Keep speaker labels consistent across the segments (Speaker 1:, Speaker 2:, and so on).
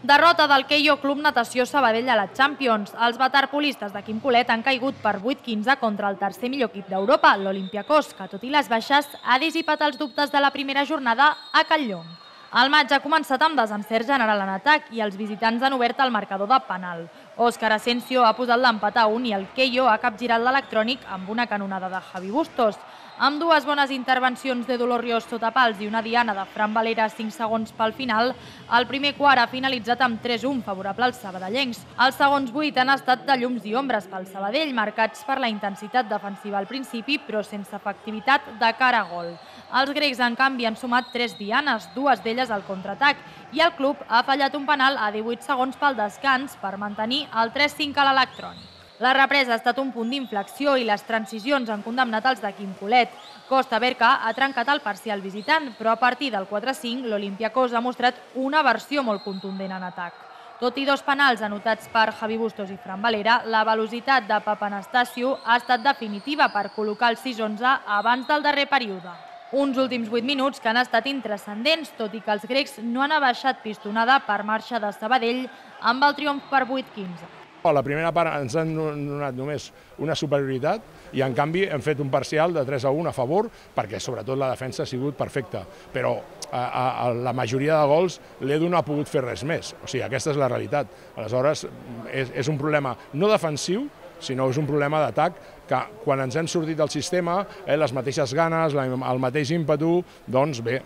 Speaker 1: Derrota del Keio Club Natació Sabadell a la Champions. Els waterpolistes de Quim Colet han caigut per 8-15 contra el tercer millor equip d'Europa, l'Olympiakos, que tot i les baixes ha dissipat els dubtes de la primera jornada a Catlllong. El maig ha començat amb desencert general en atac i els visitants han obert el marcador de penal. Óscar Asensio ha posat l'empat a 1 i el Keio ha capgirat l'electrònic amb una canonada de Javi Bustos. Amb dues bones intervencions de Dolor Rios sota pals i una diana de Fran Valera 5 segons pel final, el primer quart ha finalitzat amb 3-1 favorable als sabadellencs. Els segons 8 han estat de llums i ombres pel Sabadell, marcats per la intensitat defensiva al principi, però sense efectivitat de cara a gol. Els grecs, en canvi, han sumat 3 dianes, dues d'elles al contraatac, i el club ha fallat un penal a 18 segons pel descans per mantenir el 3-5 a l'electrònic. La represa ha estat un punt d'inflexió i les transicions han condemnat els de Quim Colet. Costa Berca ha trencat el parcial visitant, però a partir del 4-5 l'Olympiakos ha mostrat una versió molt contundent en atac. Tot i dos penals anotats per Javi Bustos i Fran Valera, la velocitat de Papanastasiou ha estat definitiva per col·locar el 6-11 abans del darrer període. Uns últims 8 minuts que han estat intranscendents, tot i que els grecs no han abaixat pistonada per marxa de Sabadell amb el triomf per 8-15.
Speaker 2: A la primera part ens han donat només una superioritat i en canvi hem fet un parcial de 3-1 a favor perquè sobretot la defensa ha sigut perfecta, però a la majoria de gols l'Edu no ha pogut fer res més, o sigui, aquesta és la realitat. Aleshores és un problema no defensiu, sinó és un problema d'atac que quan ens hem sortit del sistema, les mateixes ganes, el mateix ímpetu, doncs bé,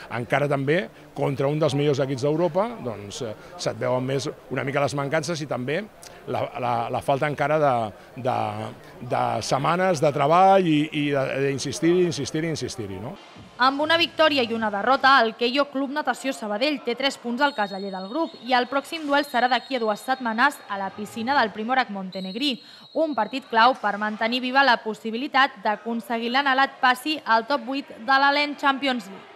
Speaker 2: encara també contra un dels millors equips d'Europa se't veuen més una mica les mancances i també la falta encara de setmanes de treball i d'insistir-hi.
Speaker 1: Amb una victòria i una derrota, el Keio Club Natació Sabadell té 3 punts al caseller del grup i el pròxim duel serà d'aquí a 2 setmanes a la piscina del Primorac Montenegrí, un partit clau per mantenir viva la possibilitat d'aconseguir l'anhelat passi al top 8 de l'Allen Champions League.